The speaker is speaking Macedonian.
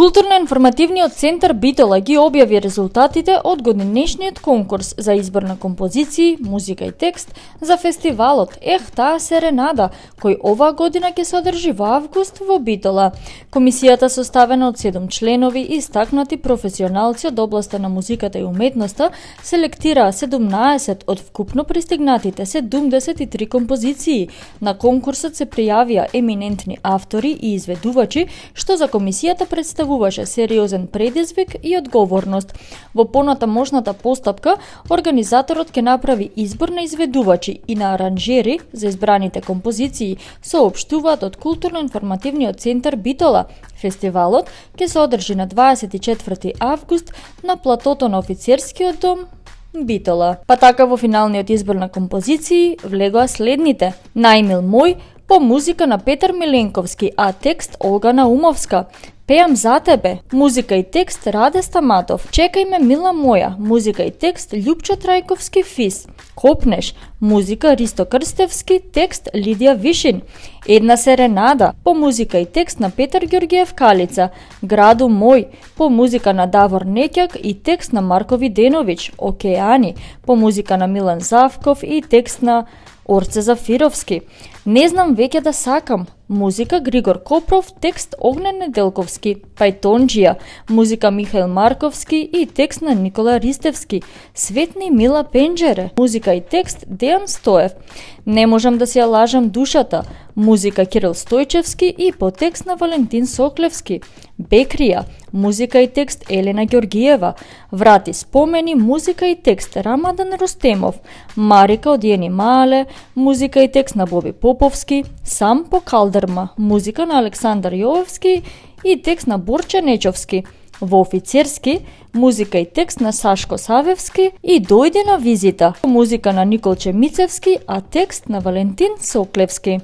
Културно-информативниот центар Битола ги објави резултатите од годинешниот конкурс за избор на композиции, музика и текст за фестивалот Ех, таа серенада, кој оваа година ќе се одржи во август во Битола. Комисијата составена од 7 членови и истакнати професионалци од областа на музиката и уметноста селектираа 17 од вкупно пристигнатите 73 композиции. На конкурсот се пријавија еминентни автори и изведувачи, што за комисијата представуваше сериозен предизвик и одговорност. Во понатамошната постапка, организаторот ќе направи избор на изведувачи и на аранжери за избраните композиции, соопштуваат од Културно-информативниот центар Битола. Фестивалот ќе се одржи на 24 август на платото на Офицерскиот дом Битола. Па така во финалниот избор на композиции влегоа следните: Најмил мој по музика на Петар Миленковски, а текст Олга Наумовска. Пеам за тебе, музика и текст Раде Стаматов. Чекај ме мила моја, музика и текст Љупчо Трајковски Фис. Копнеш, музика Ристо Крстевски, текст Лидија Вишин. Една серенада, по музика и текст на Петар Ѓорѓиев Калица. Граду мој, по музика на Давор Неќак и текст на Марко Виденовиќ. Океани, по музика на Милан Завков и текст на Орце Зафировски. Не знам веќе да сакам, музика Григор Копров, текст Огнен Неделковски. Пајтонџија, музика Михаил Марковски и текст на Никола Ристевски. Светни Мила Пенџере, музика и текст Дејан Стоев. Не можам да си ја лажам душата, музика Кирил Стојчевски и по текст на Валентин Соклевски. Бекрија, музика и текст Елена Ѓоргиева. Врати спомени, музика и текст Рамадан Рустемов. Марика од Јени Маале, музика и текст на Боби Поповски. Сам по Калдерма, музика на Александар Јовевски и текст на Борче Нечовски. Во Офицерски, музика и текст на Сашко Савевски и Дојде на визита, музика на Николче Мицевски, а текст на Валентин Соклевски.